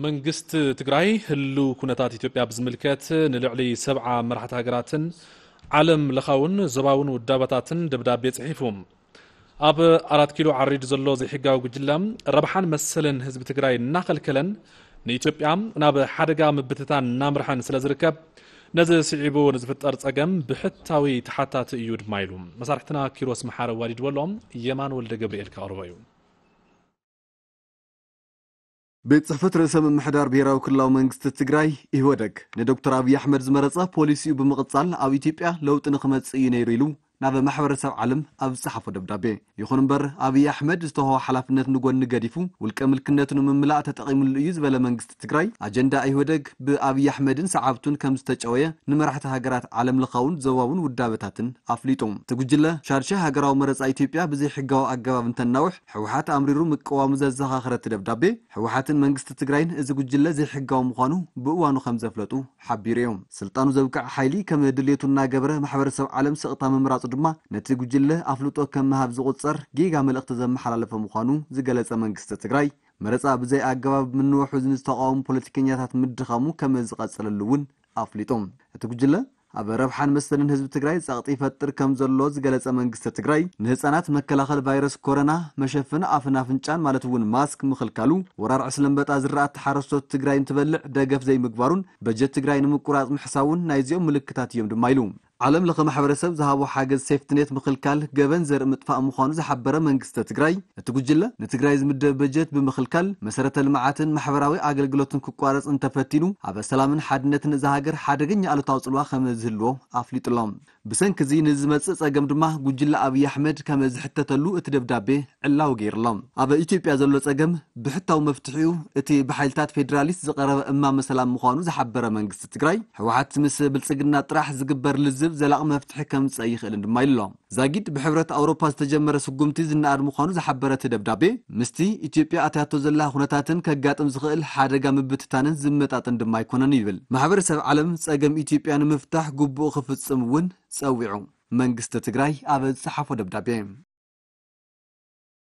መንግስቲ ትግራይ ህልው ኩነታት ኢትዮጵያ ብዝምልከት ንልዕሊ ሰብዓ መራሕቲ ሃገራትን ዓለም ለኻውን ዞባውን ውዳበታትን ደብዳቤ ጽሒፉ። ኣብ ኣራት ኪሎ ዓሪዱ ዘሎ ዘይሕጋዊ ጉጅለ ረብሓን መሰልን ህዝቢ ትግራይ እናኸልከለን ንኢትዮጵያ ናብ ሓደጋ ምብትታን እናምርሐን ስለ ዝርከብ፣ ነዚ ስዒቡ ንዝፍጠር ጸገም ብሕታዊ ተሓታቲ እዩ ድማ ኢሉ። መሳርሕትና ኪሮስ መሓረ ዋዲድዎ ኣሎ። የማን ወልደ ገብርኤል ከቕርቦ እዩ። ቤት ጽሕፈት ርእሰ ምምሕዳር ብሄራዊ ክልላዊ መንግስቲ ትግራይ፣ ኢህወደግ፣ ንዶክተር ኣብይ ኣሕመድ ዝመረጸ ፖሊሲኡ ብምቕጻል ኣብ ኢትዮጵያ ለውጢ ንኽመጽእ እዩ ነይሩ ኢሉ ናብ ማሕበረሰብ ዓለም ኣብ ዝጸሓፎ ደብዳቤ። ይኹን እምበር ኣብይ ኣሕመድ ዝተውሃቦ ሓላፍነት ንጎኒ ገዲፉ ውልቀ ምልክነቱ ንምምላእ ተጠቒምሉ እዩ ዝበለ መንግስቲ ትግራይ፣ ኣጀንዳ ኢህወደግ ብኣብይ ኣሕመድን ሰዓብቱን ከም ዝተጨወየ ንመራሕቲ ሃገራት ዓለም ለኻውን ዞባውን ውዳበታትን ኣፍሊጡ። እቲ ጉጅለ ሻድሻይ ሃገራዊ መረጻ ኢትዮጵያ ብዘይሕጋዊ ኣገባብ እንተናውሕ ህወሓት ኣምሪሩ ምቅዋሙ ዘዘኻኸረ እቲ ደብዳቤ፣ ህወሓትን መንግስቲ ትግራይን እዚ ጉጅለ ዘይሕጋዊ ምዃኑ ብእዋኑ ከም ዘፍለጡ ሓቢሩ እዩ። ስልጣኑ ዘብቅዕ ሓይሊ ከም ድሌቱ እናገበረ ማሕበረሰብ ዓለም ስቕታ ምምራጹ ድማ ነቲ ጉጅለ ኣፍልጦ ከም ምሃብ ዝቑጸር ጌጋ መልእኽቲ ዘመሓላለፈ ምዃኑ ዝገለጸ መንግስቲ ትግራይ፣ መረጻ ብዘይ ኣገባብ ምንውሑ ንዝተቓወሙ ፖለቲከኛታት ምድኻሙ ከም ዝቐጸለሉ እውን ኣፍሊጡ። እቲ ጉጅለ ኣብ ረብሓን መሰልን ህዝቢ ትግራይ ጸቕጢ ይፈጥር ከም ዘሎ ዝገለጸ መንግስቲ ትግራይ፣ ንህፃናት መከላኸል ቫይረስ ኮረና፣ መሸፈኒ ኣፍን ኣፍንጫን ማለት እውን ማስክ ምኽልካሉ፣ ወራር ዕስለ ኣንበጣ ዝራእቲ ሓረስቶት ትግራይ እንትበልዕ ደገፍ ዘይምግባሩን በጀት ትግራይ ንምቁራፅ ምሕሳቡን ናይዚኦም ምልክታት እዮም ድማ ኢሉ። ዓለም ለኸ ማሕበረሰብ ዝሃቦ ሓገዝ ሴፍትኔት ምኽልካል ገበን ዘርኢ ምጥፋእ ምዃኑ ዝሓበረ መንግስቲ ትግራይ፣ እቲ ጉጅለ ንትግራይ ዝምደብ በጀት ብምኽልካል መሰረተ ልምዓትን ማሕበራዊ ኣገልግሎትን ክቋረፅ እንተፈቲኑ ኣብ ሰላምን ሓድነትን እዛ ሃገር ሓደገኛ ኣሉታዊ ፅልዋ ከም ዝህልዎ ኣፍሊጡ ኣሎ። ብሰንኪ እዚ ንዝመፅእ ፀገም ድማ ጉጅለ ኣብይ ኣሕመድ ከም ዝሕተተሉ እቲ ደብዳቤ ዕላዊ ገይሩ ኣሎ። ኣብ ኢትዮጵያ ዘሎ ፀገም ብሕታዊ መፍትሒኡ እቲ ብሓይልታት ፌዴራሊስት ዝቐረበ እማመ ሰላም ምዃኑ ዝሓበረ መንግስቲ ትግራይ፣ ህወሓት ምስ ብልፅግና ጥራሕ ዝግበር ልዝብ ዘላቒ መፍትሒ ከምፅእ ኣይኽእልን ድማ ኢሉ ኣሎ። ዛጊድ ብሕብረት ኣውሮፓ ዝተጀመረ ስጉምቲ ዝነኣድ ምዃኑ ዝሓበረ እቲ ደብዳቤ፣ ምስቲ ኢትዮጵያ ኣትያቶ ዘላ ኩነታትን ከጋጥም ዝኽእል ሓደጋ ምብትታንን ዝመጣጠን ድማ ኣይኮነን ይብል። ማሕበረሰብ ዓለም ፀገም ኢትዮጵያ ንምፍታሕ ግቡኡ ክፍፅም እውን ጸዊዑ። መንግስቲ ትግራይ ኣብ ዝጸሓፎ ደብዳቤ